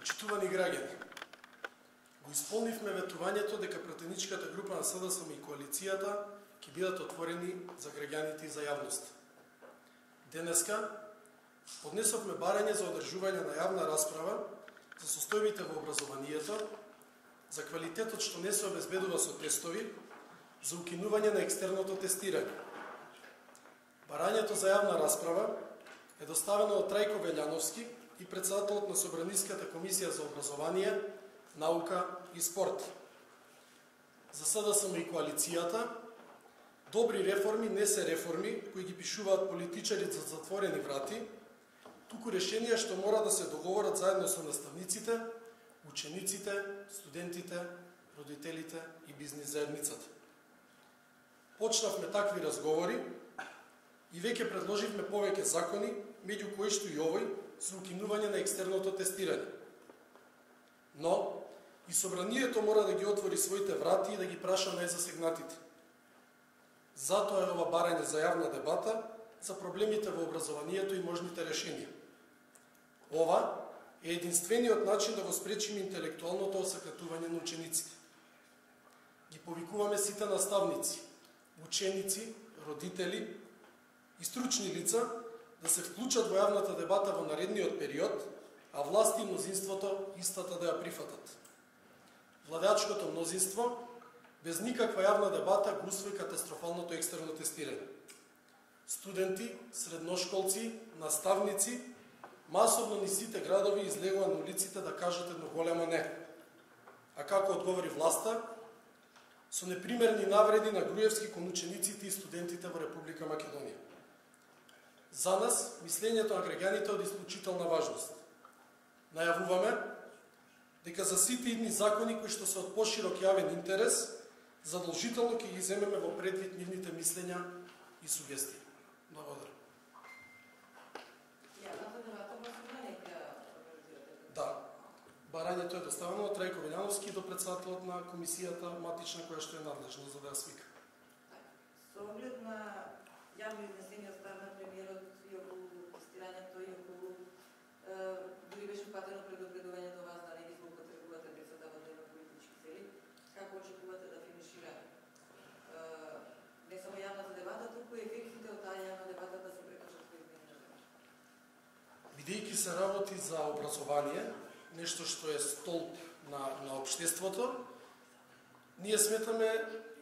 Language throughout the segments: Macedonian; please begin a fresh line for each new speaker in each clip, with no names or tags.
Почитувани граѓани, го исполнивме ветувањето дека пратеничката група на СДСМ и коалицијата ќе бидат отворени за граѓаните и за јавност. Денеска поднесовме барање за одржување на јавна расправа за состојбите во образованието, за квалитетот што не се обезбедува со тестови, за укинување на екстерното тестирање. Барањето за јавна расправа е доставено од Трајко Велјановски и председателот на Собраниската комисија за образование, наука и спорт. За СДСМ и коалицијата, добри реформи не се реформи кои ги пишуваат политичари за затворени врати, туку решенија што мора да се договорат заедно со наставниците, учениците, студентите, родителите и бизнис заедницата. Почнавме такви разговори и веќе предложивме повеќе закони, меѓу кои што и овој, за укинување на екстерното тестирање. Но и собранието мора да ги отвори своите врати и да ги праша најзасегнатите. Затоа е ова барање за јавна дебата за проблемите во образованието и можните решенија. Ова е единствениот начин да го спречиме интелектуалното осакатување на учениците. Ги повикуваме сите наставници, ученици, родители и стручни лица да се вклучат во јавната дебата во наредниот период, а власти и мнозинството истата да ја прифатат. Владеачкото мнозинство без никаква јавна дебата го усвои катастрофалното екстерно тестирање. Студенти, средношколци, наставници, масовно низ сите градови излегува на улиците да кажат едно големо не. А како одговори власта? Со непримерни навреди на Груевски кон учениците и студентите во Република Македонија. За нас, мислењето на граѓаните е од исклучителна важност. Најавуваме дека за сите идни закони кои што се од поширок јавен интерес, задолжително ќе ги земеме во предвид нивните мислења и сугестии. Благодарам. Да. Барањето е доставено од Трајко Велјановски до председателот на комисијата матична која што е надлежна за да ја свика.
Со оглед на јавно изнесени од страна премиерот и околу тестирањето и околу дури беше упатено предупредување до вас да не ги злоупотребувате децата во дневно политички цели, како очекувате да финишира не само јавната дебата, туку и ефектите од таа јавна дебата да се прекажат во измени на земја?
Бидејќи се работи за образование, нешто што е столб на општеството, ние сметаме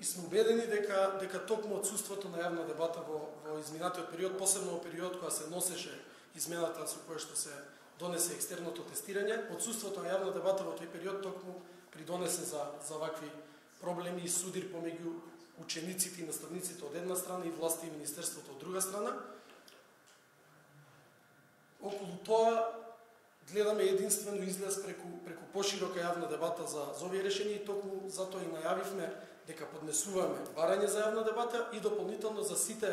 и сме убедени дека токму отсуството на јавна дебата во изминатиот период, посебно во период кога се носеше измената со која што се донесе екстерното тестирање, отсуството на јавна дебата во тој период токму придонесе за вакви проблеми и судир помеѓу учениците и наставниците од една страна и власти и министерството од друга страна. Околу тоа гледаме единствено излез преку поширока јавна дебата за овие решенија и токму затоа и најавивме дека поднесуваме барање за јавна дебата и дополнително за сите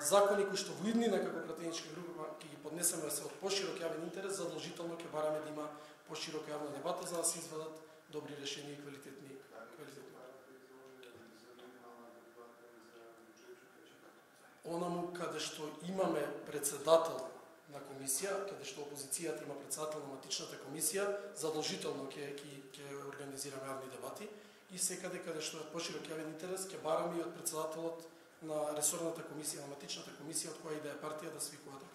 закони кои што во иднина како пратеничка група ќе ги поднесеме да се од поширок јавен интерес, задолжително ќе бараме да има поширока јавна дебата за да се извадат добри решенија и квалитетни. Онаму каде што имаме председател на комисија, каде што опозицијата има председател на матичната комисија, задолжително ќе организираме јавни дебати и секаде каде што е поширок јавен интерес ќе бараме и од председателот на ресорната комисија, на матичната комисија, од која и да е партија да свикуваат